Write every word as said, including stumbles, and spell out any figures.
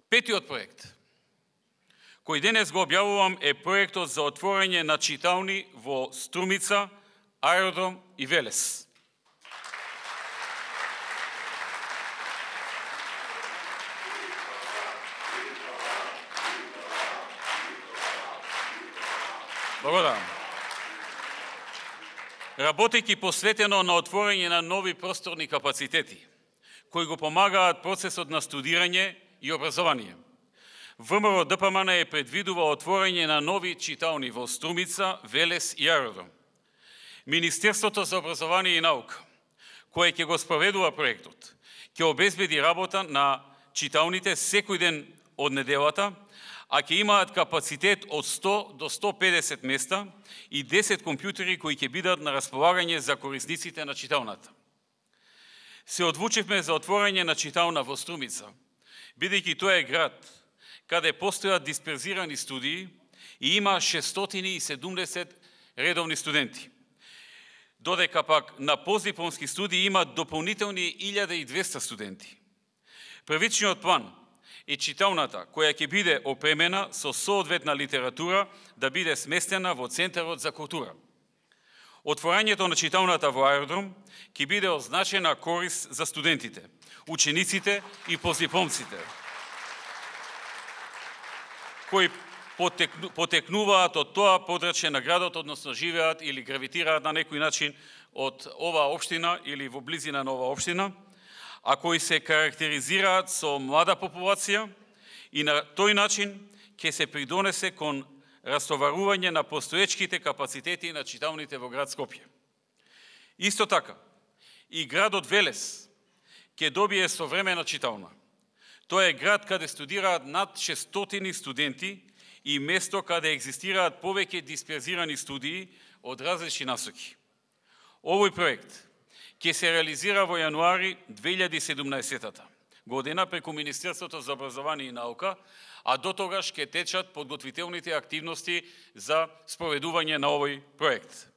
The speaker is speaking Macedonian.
Петиот проект, кој денес го објавувам, е проектот за отворање на читални во Струмица, Аеродром и Велес. Благодарам. Работејќи посветено на отворање на нови просторни капацитети, кои го помагаат процесот на студирање и образование, ВМРО ДПМН е предвидува отворање на нови читални во Струмица, Велес и Аеродром. Министерството за образование и наука, кое ќе го спроведува проектот, ќе обезбеди работа на читалните секој ден од неделата, а ќе имаат капацитет од сто до сто и педесет места и десет компјутери кои ќе бидат на располагање за корисниците на читалната. Се одлучивме за отворање на читална во Струмица, бидејќи тоа е град каде постојат дисперзирани студии и има шестстотини и седумдесет редовни студенти, додека пак на постдипломски студии има дополнителни илјада и двесте студенти. Првичниот план е читалната, која ќе биде опремена со соодветна литература, да биде сместена во Центарот за култура. Отворањето на читалната во Аеродром ќе биде означена корис за студентите, учениците и постдипломците, кои потекнуваат од тоа подрачје на градот, односно живеат или гравитираат на некој начин од оваа општина или во близина на оваа општина, а кои се карактеризираат со млада популација и на тој начин ќе се придонесе кон растоварување на постоечките капацитети на читалните во град Скопје. Исто така, и градот Велес ќе добие современа читална. Тоа е град каде студираат над шестстотини студенти и место каде екзистираат повеќе дисперзирани студии од различни насоки. Овој проект ќе се реализира во јануари две илјади и седумнаесета година преку Министерството за образование и наука, а до тогаш ќе течат подготвителните активности за спроведување на овој проект.